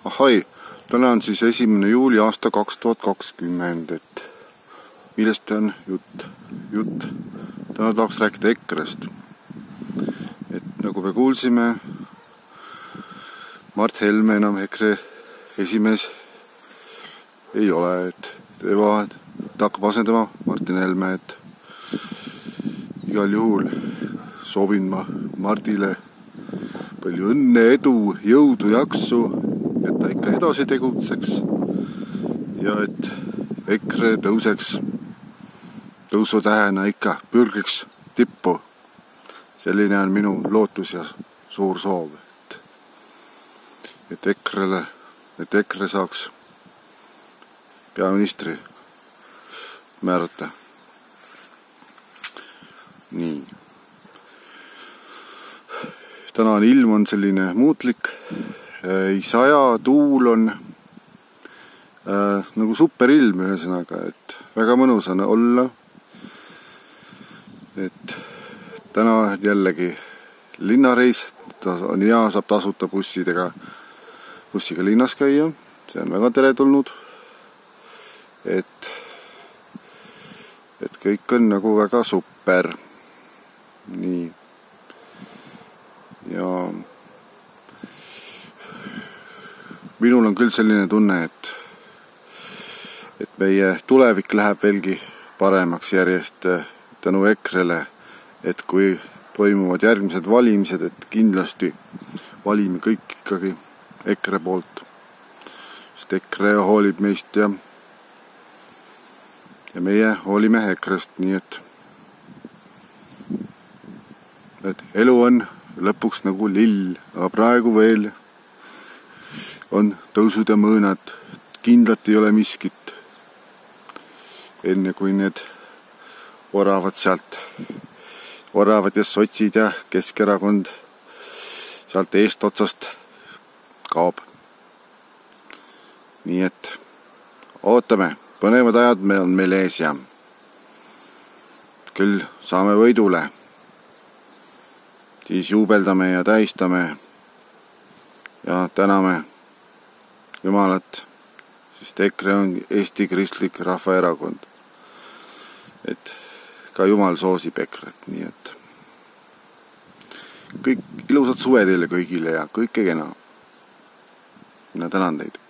Ahoi, täna on siis 1. juuli aasta 2020, et millest on jutt. Täna tahaks rääkida EKRE-st. Et nagu me kuulsime, Mart Helme enam EKRE esimees ei ole, et ta hakkab asendama Martin Helme, et igal juhul soovin ma Mardile palju õnne, edu, jõudu, jaksu, et ta ikka edasi tegutseks ja et EKRE tõuseks tõusutähena ikka pürgiks tippu. Selline on minu lootus ja suur soov, et EKRE saaks peaministri määrata. Nii. Täna on ilm on selline muutlik, ei saja, tuul on nagu superilm ühesõnaga, et väga mõnus on olla. Et täna jällegi linnareis, on hea, saab tasuta bussiga linnas käia, see on väga teretulnud. Et kõik on nagu väga super. Nii. Ja minul on küll selline tunne, et meie tulevik läheb veelgi paremaks järjest tänu EKRE-le, et kui toimuvad järgmised valimised, et kindlasti valime kõik ikkagi EKRE poolt, sest EKRE hoolib meist ja meie hoolime EKRE-st, nii et elu on lõpuks nagu lill, aga praegu veel on tõusud ja mõõnad, kindlalt ei ole miskit, enne kui need oravad ja sotsid ja Keskerakond sealt eest otsast kaob. Nii et ootame, põnevad ajad on meil ees ja küll saame võidule. Siis juubeldame ja tähistame ja täname Jumalat, sest EKRE on Eesti Kristlik Rahvaerakond. Et ka Jumal soosib EKRE-t, nii et kõik ilusad suve teile kõigile ja kõike kena. Mina tänan teid.